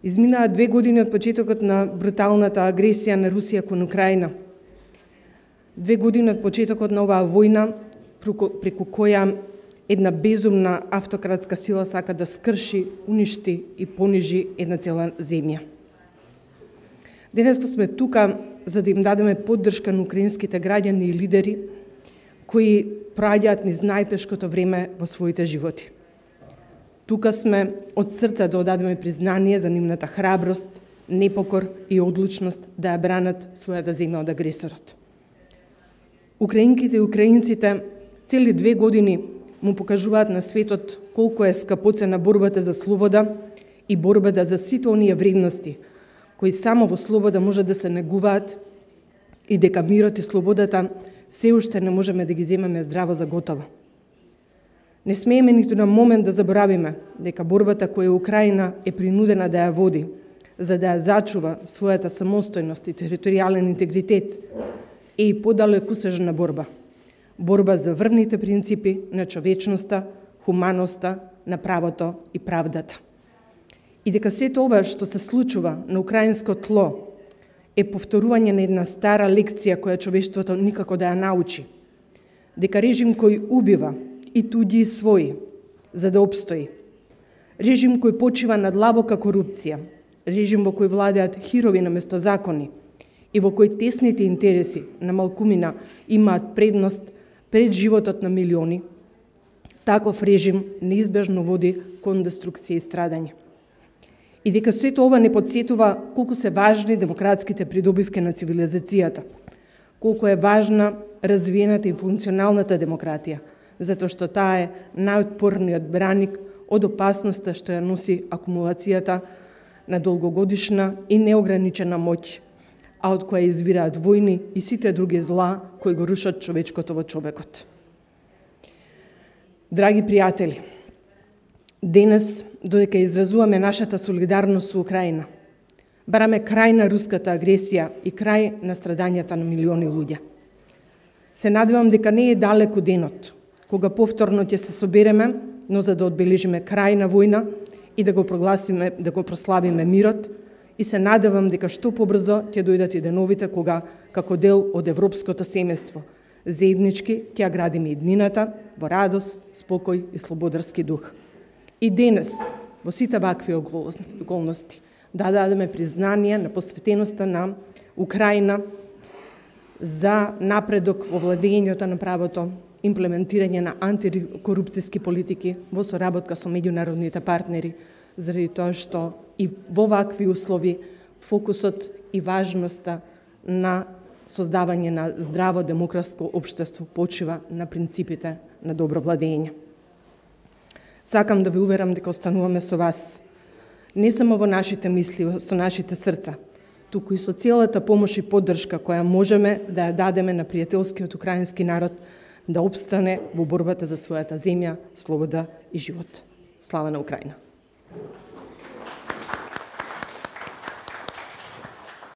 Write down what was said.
Изминаа 2 години од почетокот на бруталната агресија на Русија кон Украина. 2 години од почетокот на оваа војна, преку која една безумна автократска сила сака да скрши, уништи и понижи една цела земја. Денеска сме тука за да им дадеме поддршка на украинските граѓани и лидери кои проаѓаат низ најтешкото време во своите животи. Тука сме од срце да одадеме признание за нивната храброст, непокор и одлучност да ја бранат својата земја од агресорот. Украинките и украинците цели 2 години му покажуваат на светот колку е скапоцена борбата за слобода и борбата за сите оние вредности кои само во слобода може да се негуваат и дека мирот и слободата се уште не можеме да ги земеме здраво за готово. Не смееме ниту на момент да заборавиме дека борбата која Украина е принудена да ја води за да ја зачува својата самостојност и територијален интегритет е и подалекусежна борба. Борба за врвните принципи на човечноста, хуманоста, на правото и правдата. И дека сето ова што се случува на украинско тло е повторување на една стара лекција која човештвото никако да ја научи. Дека режим кој убива и туѓи и своји за да обстои. Режим кој почива на длабока корупција, режим во кој владеат хирови наместо закони и во кој тесните интереси на малкумина имаат предност пред животот на милиони, таков режим неизбежно води кон деструкција и страдање. И дека сето ова не подсетува колку се важни демократските придобивки на цивилизацијата, колку е важна развиената и функционалната демократија, затоа што таа е најотпорниот браник од опасноста што ја носи акумулацијата на долгогодишна и неограничена моќ, а од која извираат војни и сите други зла кои го рушат човечкото во човекот. Драги пријатели, денес, додека изразуваме нашата солидарност со Украина, бараме крај на руската агресија и крај на страдањата на милиони луѓе. Се надевам дека не е далеку денот, кога повторно ќе се собереме, но за да одбележиме крај на војна и да го прогласиме, да го прославиме мирот, и се надевам дека што побрзо ќе дојдат и деновите кога, како дел од европското семејство, заеднички ќе ја градиме иднината во радост, спокој и слободарски дух. И денес, во сите вакви околности, да дадеме признание на посветеноста на Украина за напредок во владењето на правото, имплементирање на антикорупцијски политики во соработка со меѓународните партнери, заради тоа што и во вакви услови фокусот и важноста на создавање на здраво демократско општество почива на принципите на добро владење. Сакам да ве уверам дека остануваме со вас, не само во нашите мисли, со нашите срца, туку и со целата помош и поддршка која можеме да ја дадеме на пријателскиот украински народ да обстане во борбата за својата земја, слобода и живот. Слава на Украина!